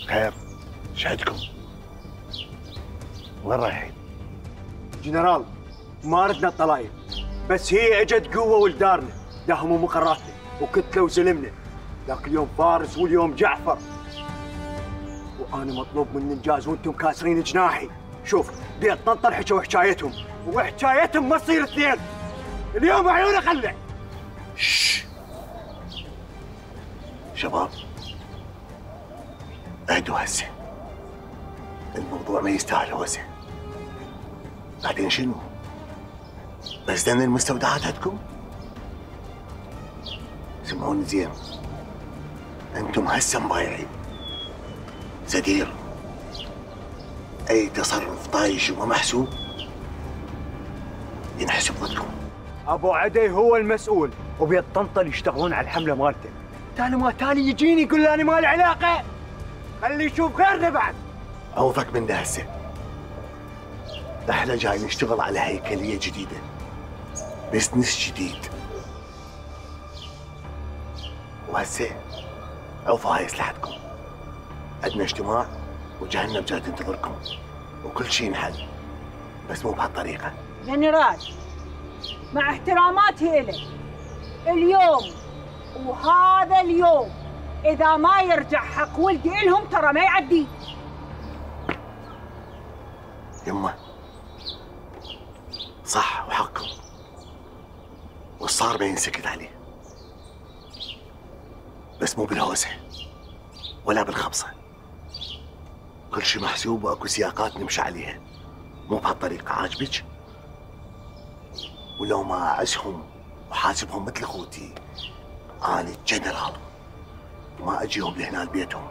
خير، شهدكم. وين رايحين؟ جنرال، ما ردنا الطلايب، بس هي اجت قوه ولدارنا، داهموا مقراتنا وكتلوا وسلمنا، ذاك اليوم فارس واليوم جعفر. وانا مطلوب مني انجاز وانتم كاسرين جناحي. شوف، بيت طنطا حكوا حكايتهم، وحكايتهم ما تصير اثنين. اليوم عيونه خلع. شش شباب، اهدوا هسه، الموضوع ما يستاهل هوسه. بعدين شنو؟ بس دن المستودعات عندكم؟ سمعوني زين، انتم هسه مبايعين. زدير، اي تصرف طايش وما محسوب ينحسب ضدكم. ابو عدي هو المسؤول، وبيت طنطا اللي يشتغلون على الحمله مالته. تالي ما تالي يجيني يقول لي انا ما لي علاقه. خلي يشوف غيرنا بعد. اوفك من ده هسه. احنا جاي نشتغل على هيكليه جديده، بزنس جديد. وهسه عوفوا هاي اسلحتكم. عندنا اجتماع وجهنم جاي تنتظركم، وكل شيء ينحل، بس مو بهالطريقه. جنرال، مع احتراماتي إلك، اليوم وهذا اليوم إذا ما يرجع حق ولدي إلهم ترى ما يعدي. يمه صح وحقكم، والصار ما ينسكت عليه، بس مو بالهوسه ولا بالخبصه. كل شيء محسوب واكو سياقات نمشي عليها، مو بهالطريقه. عاجبك؟ ولو ما اعزهم وحاسبهم مثل اخوتي، اني جنرال، ما اجيهم لهنا لبيتهم